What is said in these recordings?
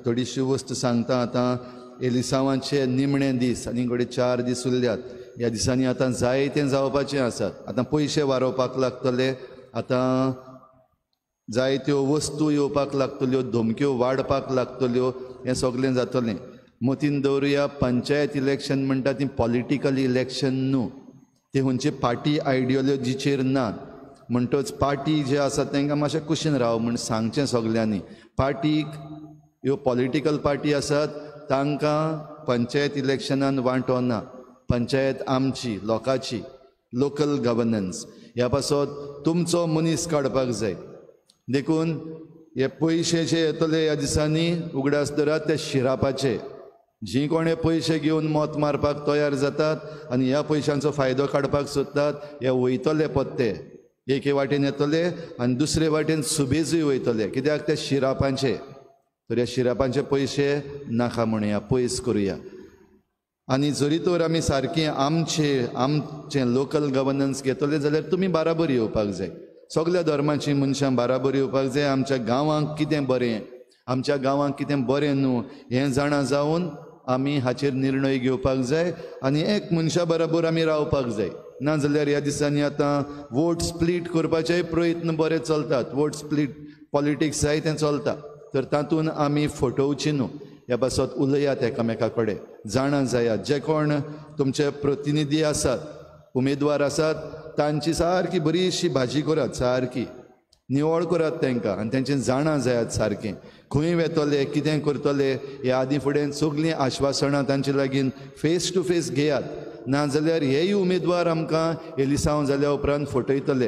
थोडीशी वस्त सांगता. आतां एलिसांवाचे निमणे दीस आनी घडये 4 दीस उरल्यात. ह्या दिसांनी आतां जायतें जावपाचें आसात. आतां पयशे वारोवपाक लागतले, आतां जायत्यो वस्तू येवपाक लागतल्यो, धमक्यो वाडपाक लागतल्यो, हें सगळें जातलें. मतीन दवरुया, पंचायत इलेक्शन म्हणटा ती पॉलिटिकल इलेक्शन न्हू, ती खंयची पार्टी आयडियोलॉजीचेर ना. म्हणटच पार्टी जे आसा तांकां मातशें कुशीन राव म्हूण सांगचें सगल्यांनी. पार्टीक ह्यो पॉलिटिकल पार्टी आसात तांकां पंचायत इलेक्शनान वांटो ना. पंचायत आमची, लोकांची, लोकल गवर्नन्स. ह्या पासत तुमचो मनीस काडपाक जाय. देखून हे पयशे जे येतले ह्या दिसांनी उगडास दरात ते शिरापाचे. जी कोणे पयशे घेवन मत मारपाक तयार जातात आनी ह्या पयशांचो फायदो काडपाक सोदतात, हे वयतले पत्ते एके वाटेन येतले आनी दुसरे वाटेन सुबेजूय वयतले. कित्याक ते शिरापांचे. तर ह्या शिरापांचे पयशे नाका म्हणया, पयस करुया. आनी जरी तर आमी सारकें आमचे आमचें लोकल गवर्नन्स घेतले जाल्यार तुमी बाराबर येवपाक जाय. सगल्या धर्माचीं मनशां बाराबर येवपाक जाय. आमच्या गांवांक कितें बरें, आमच्या गांवांक कितें बरें न्हू हें जाणा जावन आमी हाचेर निर्णय घेवपाक जाय आनी एक मनशा बराबर आमी रावपाक जाय. ना जाल्यार ह्या दिसांनी आतां वोट स्प्लीट करपाचेय प्रयत्न बरे चलतात. वोट स्प्लीट पॉलिटिक्स जाय तें चलता, तर तातूंत आमी फटोवची न्हू. ह्या पासत उलयात एकामेका कडेन, जाणा जायात. जे कोण तुमचे प्रतिनिधी आसात, उमेदवार आसात, तांची सारकी बरीशी भाजी करात, सारकी निवळ करात तांकां आनी तांचें जाणा जायात सारकें खंय वेतले, कितें करतले. ह्या आदी फुडें सगळीं आश्वासनां तांचे लागीं फेस टू फेस घेयात. ना जाल्यार हेय उमेदवार आमकां एलिसांव जाल्या उपरांत फटयतले.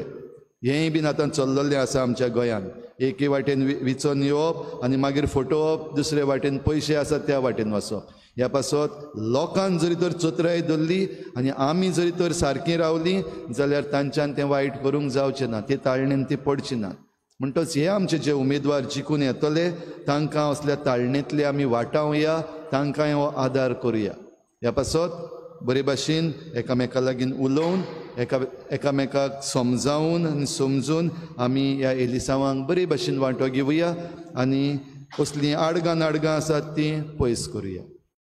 हेंय बीन आतां चल्ललें आसा आमच्या गोंयांत. एके वाटेन विचोन येवप आनी मागीर फटोवप, दुसरे वाटेन पयशे आसात त्या वाटेन वचप. ह्या पासत लोकान जरी तर चतुराय धरली आनी आमी जरी तर सारकीं रावलीं जाल्यार तांच्यान तें वायट करूंक जावचें ना, ते ताळणेन ती पडची ना. म्हणटच हे आमचे जे उमेदवार जिखून येतले तांकां असल्या ताळणेंतले आमी वाटावया, तांकां हो आदार करुया. ह्या पासत बरे भाशेन एकामेका लागीं उलोवन, एकामेकाक समजावन आनी समजून आमी ह्या एलिसांवांक बरे भाशेन वांटो घेवया आनी असलीं आडगां नाडगां आसात तीं पयस करुया.